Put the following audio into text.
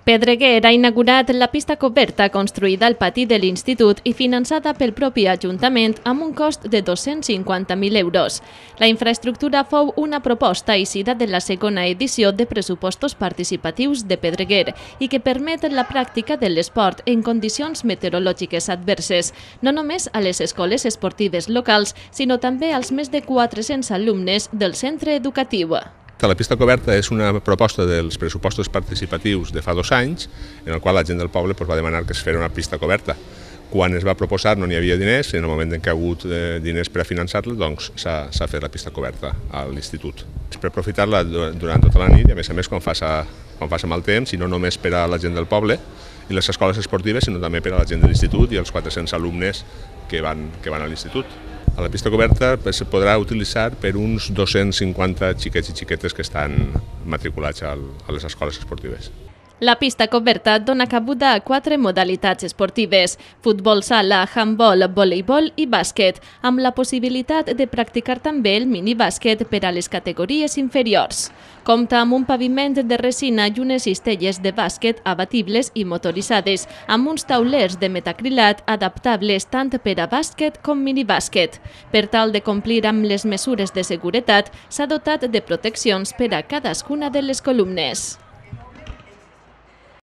Pedreguer ha inaugurat la pista coberta construïda al pati de l'Institut i finançada pel propi Ajuntament amb un cost de 250.000 euros. La infraestructura fou una proposta eixida de la segona edició de pressupostos participatius de Pedreguer i que permet la pràctica de l'esport en condicions meteorològiques adverses, no només a les escoles esportives locals, sinó també als més de 400 alumnes del centre educatiu. La pista coberta és una proposta dels pressupostos participatius de fa 2 anys, en el qual la gent del poble va demanar que es fes una pista coberta. Quan es va proposar no n'hi havia diners, i en el moment en què ha hagut diners per a finançar-la, doncs s'ha fet la pista coberta a l'institut. És per aprofitar-la durant tota la nit i a més quan faci mal temps, i no només per a la gent del poble i les escoles esportives, sinó també per a la gent de l'institut i els 400 alumnes que van a l'institut. A la pista coberta es podrà utilitzar per uns 250 xiquets i xiquetes que estan matriculats a les escoles esportives. La pista coberta dona cabuda a 4 modalitats esportives: futbol sala, handbol, voleibol i bàsquet, amb la possibilitat de practicar també el minibàsquet per a les categories inferiors. Compta amb un paviment de resina i unes cistelles de bàsquet abatibles i motoritzades, amb uns taulers de metacrilat adaptables tant per a bàsquet com minibàsquet. Per tal de complir amb les mesures de seguretat, s'ha dotat de proteccions per a cadascuna de les columnes.